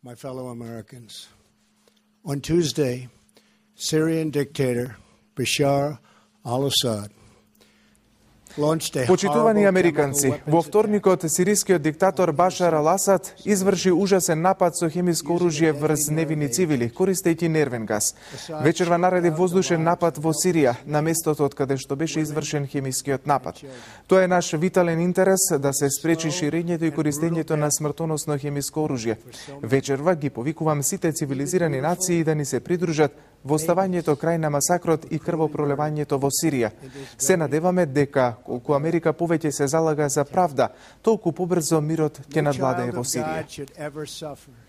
My fellow Americans, on Tuesday, Syrian dictator Bashar al-Assad Почитувани американци, во вторникот сирискиот диктатор Башар ал-Асад изврши ужасен напад со хемиско оружје врз невини цивили, користејќи нервен газ. Вечерва нареди воздушен напад во Сирија, на местото од каде што беше извршен хемискиот напад. Тоа е наш витален интерес да се спречи ширењето и користењето на смртоносно хемиско оружје. Вечерва ги повикувам сите цивилизирани нации да ни се придружат во ставањето крај на масакрот и крвопролевањето во Сирија. Се надеваме дека колку Америка повеќе се залага за правда, толку побрзо мирот ќе надвладее во Сирија.